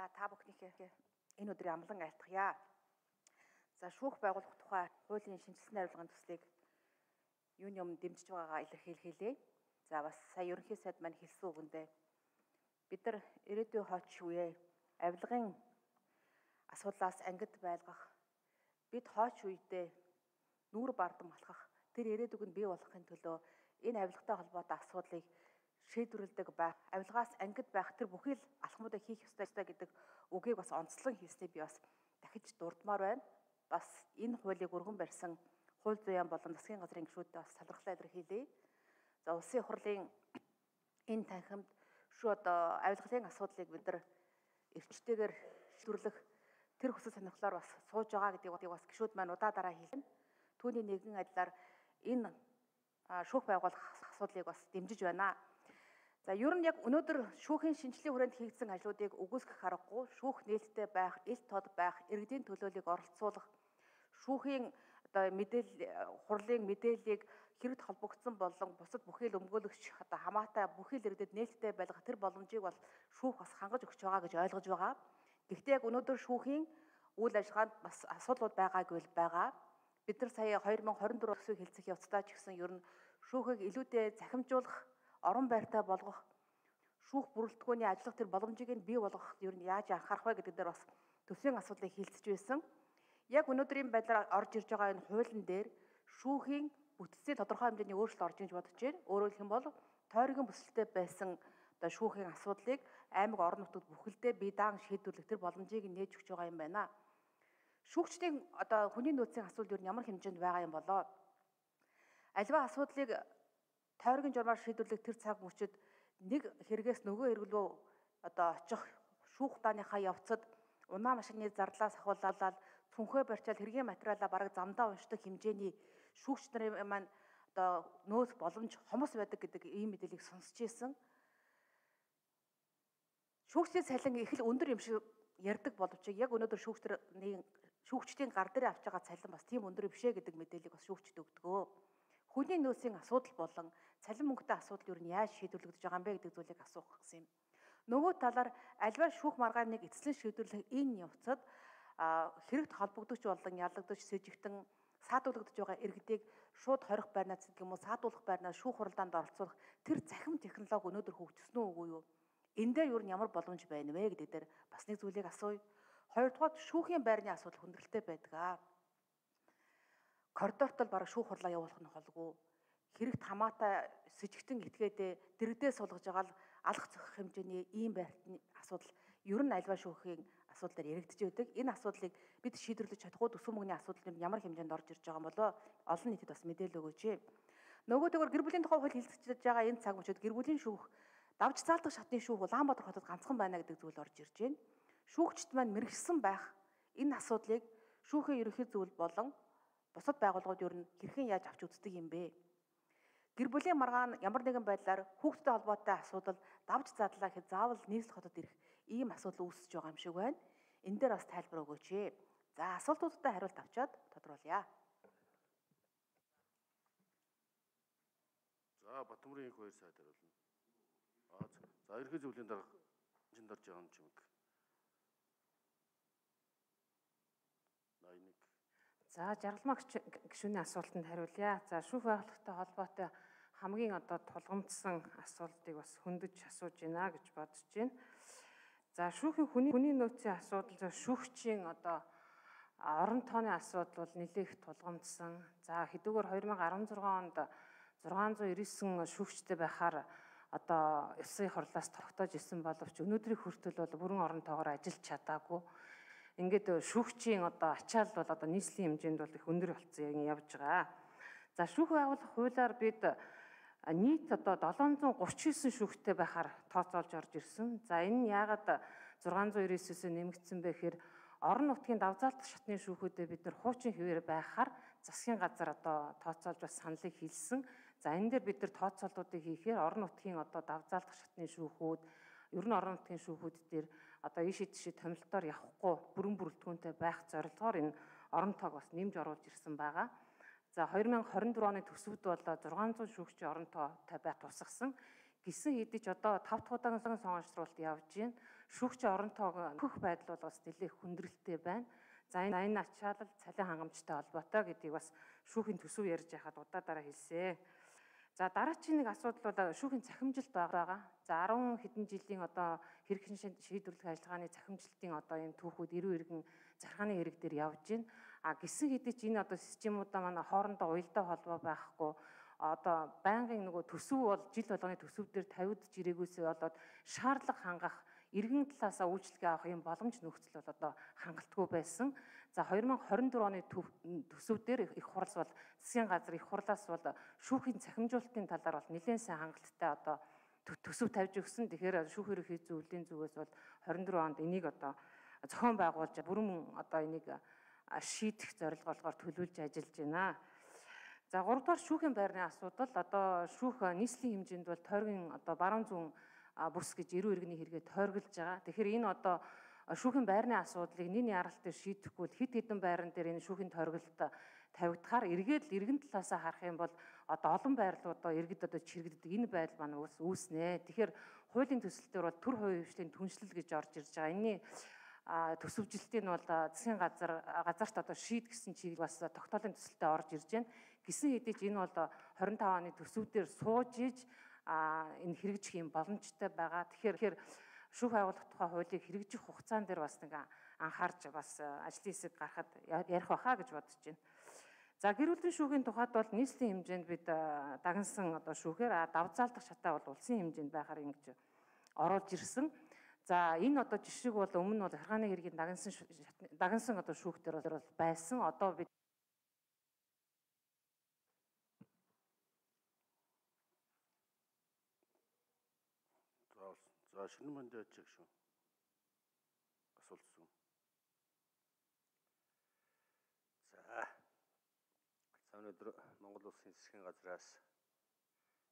За та бүхнийхээ энэ өдрийн амлан айлтгая. За шүүх байгуулах тухай хуулийн шинжилсэн хариулгын төслийг юуны өмнө дэмжиж байгаагаа илэрхийлээ. За бас сая ерөнхий сайд маань хэлсэн үгэндээ бид нар ирээдүйн хойч үеэ авилгын асуудлаас ангид байлгах, бид хойч үедээ нүүр бардам алхах, тэр ирээдүг нь бий болохын төлөө энэ авилгатай холбоотой асуудлыг шийдвэрлэдэг байх, авилгаас ангид байх тэр бүхэл алхмуудыг хийх ёстой гэдэг үгийг бас онцлон хэлсний би бас дахиж дурдмаар байна. Бас энэ хуулийг өргөн барьсан хууль зүйн болон засгийн газрын гишүүдтэй бас талархлаа илэрхийлье. За улсын их хурлын энэ танхимд авилгалын асуудлыг бид нар эрчтэйгээр шийдвэрлэх тэр хүсэл сонирхлоор бас сууж байгаа гэдгийг бас гишүүд маань удаа дараа хэлнэ. Түүний нэгэн адилаар энэ шүүх байгуулах асуудлыг бас дэмжиж байна. За ер нь яг өнөөдөр шүүхийн шинжилгээ хүрээнд хийгдсэн ажлуудыг үгүйсгэх аргагүй, шүүх нээлттэй байх, ил тод байх, иргэдийн төлөөллийг оролцуулах, шүүхийн хурлын мэдээллийг хэрэгт холбогдсон болон бусад бүхэл өмгөөлөгч хамаатай бүхэл иргэдэд нээлттэй байлгах тэр боломжийг бол шүүх бас хангаж өгч байгаа гэж ойлгож байгаа. Гэхдээ яг өнөөдөр шүүхийн үйл ажиллагаанд бас асуудлууд байгаагүй л байгаа. Бид нар сая 2024 төсвийг хэлцэх явцдаа ч гэсэн ер нь шүүхийг илүүтэй захимжуулах, орон байртай болгох, шүүх бүрэлдэхүүний ажиллах тэр боломжийг нь бий болгох ер нь яаж анхаарах вэ гэдэг дээр бас төсвийн асуудлыг хилцэж байсан. Яг өнөөдрийн байдлаар орж ирж байгаа энэ хуулийн дээр шүүхийн бүтцийн тодорхой хэмжээний өөрчлөлт орж иж бодож байна. Өөрөөр хэлбэл тойргийн бүсэлтэй байсан шүүхийн асуудлыг аймаг орон нутгад бүхэлдээ бие даан шийдвэрлэх тэр боломжийг нээж өгч байгаа юм байна. Шүүгчдийн хүний нөөцийн асуудал ер нь ямар хэмжээнд байгаа юм болоо? Аливаа асуудлыг тойргийн журмаар шийдвэрлэх тэр цаг мөчид нэг хэрэгээс нөгөө хэрэг рүү очих шүүх дааныхаа явцад унаа машины зарлаас ахуулаад цүнхээ барьчаал хэргийн материалаа бараг замдаа уншдаг хэмжээний шүүгч нарын маань нөөц боломж хомос байдаг гэдэг ийм мэдээллийг сонсч ийсэн. Шүүгчдийн цалин их л өндөр юм шиг ярьдаг боловч яг өнөөдөр шүүгчдийн гар дээр авч байгаа цалин бас тийм өндөр бишээ гэдэг мэдээллийг бас шүүгчд өгдөгөө. Хүний нөөцийн асуудал болон цалин мөнгөтэй асуудал юу нь яаж шийдвэрлэгдэж байгаа юм бэ гэдэг зүйлийг асуух гэсэн юм. Нөгөө талаар альва шүүх маргааныг эцэслэн шийдвэрлэх энэ явцад хэрэгт холбогдож болон ялагдаж сэжигтэн саадуулагдж байгаа иргэдийг шууд хорих байрнаас гэдэг юм уу саадуулах байрнаас шүүх хуралдаанд оролцуулах тэр захим технологи өнөөдөр хөгжсөн үгүй юу? Энэ дээр юу ямар боломж байна вэ гэдэг дээр бас нэг зүйлийг асууя. Хоёрдугаар шүүхийн байрны асуудал хүндрэлтэй байдаг. Коридорт л бараг шүүх хурлаа явуулах нь холгүй. Хэрэгт хамаатай сэжигтэн этгээдээ дэрэгдээ суулгаж байгаа л алах зохих хэмжээний ийм байрны асуудал ер нь альва шүүхийн асуудлаар яригдж байдаг. Энэ асуудлыг бид шийдвэрлэж чадахгүй төсвийн мөнгөний асуудал нь ямар хэмжээнд орж ирж байгаа юм болоо олон нийтэд бас мэдээлэл өгөөч. Нөгөөдөгөр гэр бүлийн тухай хууль хэлцэж байгаа энэ цаг мөчид гэр бүлийн шүүх давж цаалдах шатны шүүх Улаанбаатар хотод ганцхан байна гэдэг зүйл орж ирж байна. Шүүгчд маань мэрэгсэн байх энэ асуудлыг шүүхийн ерөнхий зөвлөл болон бусад байгууллагууд ер нь хэрхэн яаж авч үздэг юм бэ? Гэр бүлийн маргаан ямар нэгэн байдлаар хүүхдтэй холбоотой асуудал давж задлаа гэхэд заавал нийслэл хотод ирэх ийм асуудал үүсэж байгаа юм шиг байна. Энэ дээр бас тайлбар өгөөч. За асуултуудтай хариулт авчаад тодруулъя. За Батмөрийн их 2 сайд хариулна. За ерөнхий зөвлөлийн дарга жинд орж байгаа юм чимэг. 81. За жаргалмаа гишүүний асуултанд хариулъя. За шүүх байгууллагатай холбоотой хамгийн тулгамдсан асуултыг бас хөндөж асууж байна гэж бодож байна. За шүүхийн хүний нөөцийн асуудал шүүгчийн орон тооны асуудал бол нэлээх тулгамдсан. За хэдүүгээр 2016 онд 699 шүүгчтэй байхаар Улсын хурлаас тогтоож ирсэн боловч өнөөдрийн хүртэл бол бүрэн орон тоогоор ажиллаж чадаагүй. Ингээд шүүгчийн ачаал бол нийслэлийн хэмжээнд бол их өндөр болсон явж байгаа. За шүүх байгуулах хуулиар бид нийт 739 шүүгчтэй байхаар тооцоолж орж ирсэн. За энэ нь яагаад 699-өөс нэмэгдсэн бэ гэхээр орон нутгийн давзаалтах шатны шүүхүүдэд бид нар хуучин хэвээр байхаар засгийн газар тооцоолж бас саналыг хэлсэн. За энэ дээр бид нар тооцоолтуудыг хийхээр орон нутгийн давзаалтах шатны шүүхүүд ер нь орон нутгийн шүүхүүд дээр ийшээ тийшээ томилтоор явахгүй бүрэн бүрэлдэхүүнтэй байх зорилгоор энэ орон тоог бас нэмж оруулж ирсэн байгаа. За 2024 оны төсөвд бол 600 шүүгчийн орон тоотой байх тусгасан. Гисэн хэдий ч 5 дахь удаагийн сонгогчролт явж байна. шүүгчийн оронтойг нөхөх байдал бол бас нэлээд хүндрэлтэй байна. За энэ ачаалал цалин хангамжтай холбоотой гэдгийг бас шүүхийн төсөв ярьж байхад удаа хэлсэн. За дараагийн нэг асуудал бол шүүхийн цахимжилт байгаа. За 10 хэдэн жилийн одоо хэрэгхэн шийдвэрлэх ажиллагааны цахимжилтын одоо ийм түүхүүд эргэн захиргааны хэрэг дээр явж байна. А гисэн хэдий ч энэ одоо системуудаа манай хоорондоо уялдаа холбоо байхгүй одоо байнгын нөгөө төсөв бол жил болгоны төсөв дээр тавигдж ирээгүйсээ болоод шаардлага хангах иргэн талаасаа үйлчлэгээ авах юм боломж нөхцөл бол одоо хангалтгүй байсан. За 2024 оны төсөв дээр их хурал бол засгийн газар их хурлаас бол шүүхийн цахимжуулалтын талаар бол нэлээд сайн хангалттай одоо төсөв тавьж өгсөн. Тэгэхээр шүүх ерөнхий зөвлөлийн зүгээс бол 24 онд энийг одоо зохион байгуулж бүрэн одоо энийг шийдэх зорилго болгоор төлөвлөж ажиллаж байна. За 3 дугаар шүүхийн байрны асуудал одоо шүүх нийслэлийн хэмжээнд бол тойргийн одоо баруун зүүн бүс гэж эрүү иргэний хэрэгээ тойрголж байгаа. Тэгэхээр энэ одоо шүүхийн байрны асуудлыг нэг яралт дээр шийдэхгүй хэд хэдэн байран дээр энэ шүүхийн тойрголт тавигдахаар эргээд иргэн талаасаа харах юм бол одоо олон байрлуудаа иргэд одоо чирэгддэг энэ байдал маань үүснэ. Тэгэхээр хуулийн төсөл дээр бол төр хувийн хвшлийн түншлэл гэж орж ирж байгаа. Энэний төсөвжилтийг нь бол засгийн газарт одоо шийдгэсэн чиглэл бас тогтоолын төсөлтөд орж ирж байна. Гисэн хэдий ч энэ бол 25 оны төсөв дээр сууж иж энэ хэрэгжих юм боломжтой байгаа. Тэгэхээр шүүх байгуулах тухай хуулийг хэрэгжих хугацаан дээр бас нэг анхаарч бас ажлын хэсэг гарахад ярих байхаа гэж бодож байна. За гэр бүлийн шүүхийн тухайд бол нийслэлийн хэмжээнд бид дагнсан одоо шүүхээр давзаалдах шатаа бол улсын хэмжээнд байхаар ингэж оруулж ирсэн. За энэ одоо жишээг бол өмнө нь бол захиргааны хэргийн дагнсан одоо шүүх дээр бол байсан. Одоо бид За шинэ мандат чиг шүү. Асуулт. За өнөөдөр Монгол Улсын засгийн газраас